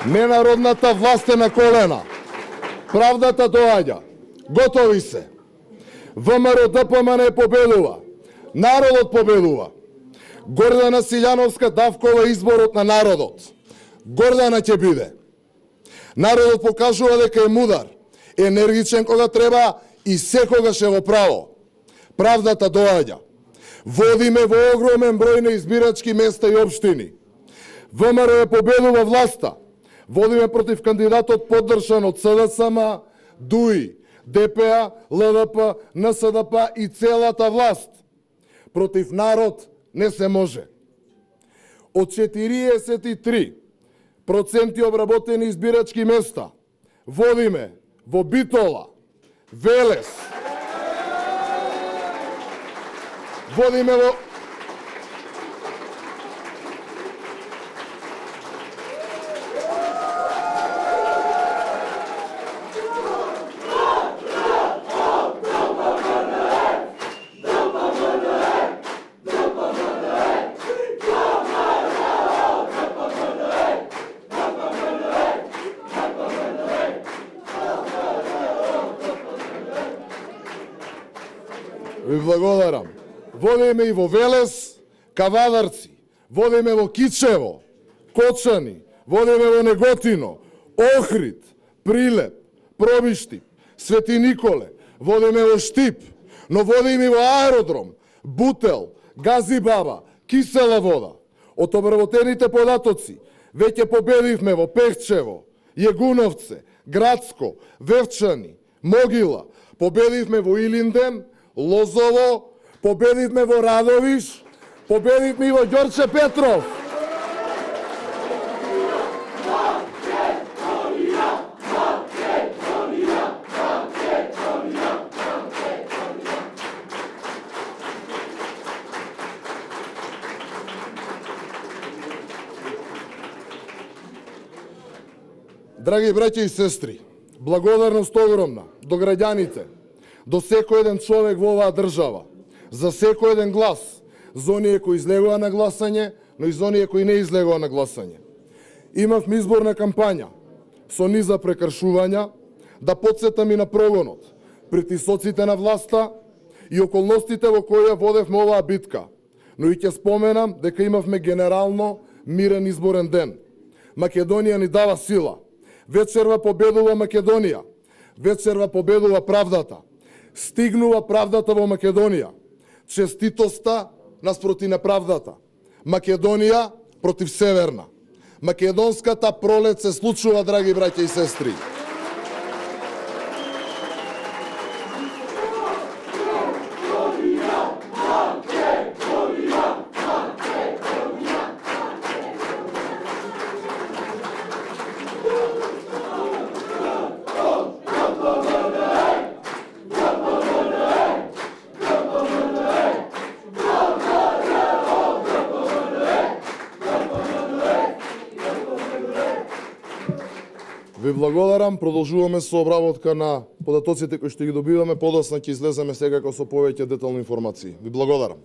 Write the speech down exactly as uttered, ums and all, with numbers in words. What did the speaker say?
Ненародната власт е на колена. Правдата доаѓа. Готови се. ВМРО Д П М Н победува. Народот победува. Гордана Силјановска Давкова изборот на народот. Гордана ќе биде. Народот покажува дека е мудар, енергичен кога треба и секогаш е во право. Правдата доаѓа. Водиме во огромен број на избирачки места и општини. ВМРО победува власта. Водиме против кандидатот поддржан од С Д С М, Д У И, Д П А, Л Д П, Н С Д П и целата власт. Против народ не се може. Од четириесет и три проценти обработени избирачки места водиме во Битола, Велес, водиме во Ви благодарам. Водиме и во Велес, Кавадарци, водиме во Кичево, Кочани, водиме во Неготино, Охрид, Прилеп, Пробиштип, Свети Николе, водиме во Штип, но водиме и во Аеродром, Бутел, Газибаба, Кисела вода. Од обработените податоци веќе победивме во Пехчево, Јегуновце, Градско, Вевчани, Могила, победивме во Илинден, Лозово, победивме во Радовиш, победивме и во Ѓорче Петров. Драги браќа и сестри, благодарност огромна до граѓаните, до секој еден човек во оваа држава, за секој еден глас, за оние кои излегува на гласање, но и за оние кои не излегува на гласање. Имавме изборна кампања со низа прекршувања, да потсетам и на прогонот, притисоците на власта и околностите во кои ја водевме оваа битка. Но и ќе споменам дека имавме генерално мирен изборен ден. Македонија ни дава сила. Вечерва победува Македонија. Вечерва победува правдата. Стигнува правдата во Македонија. Честитоста наспроти неправдата. Македонија против Северна. Македонската пролет се случува, драги браќа и сестри. Ви благодарам, продолжуваме со обработка на податоците кои што ги добиваме, подоцна ќе излеземе секако со повеќе детални информации. Ви благодарам.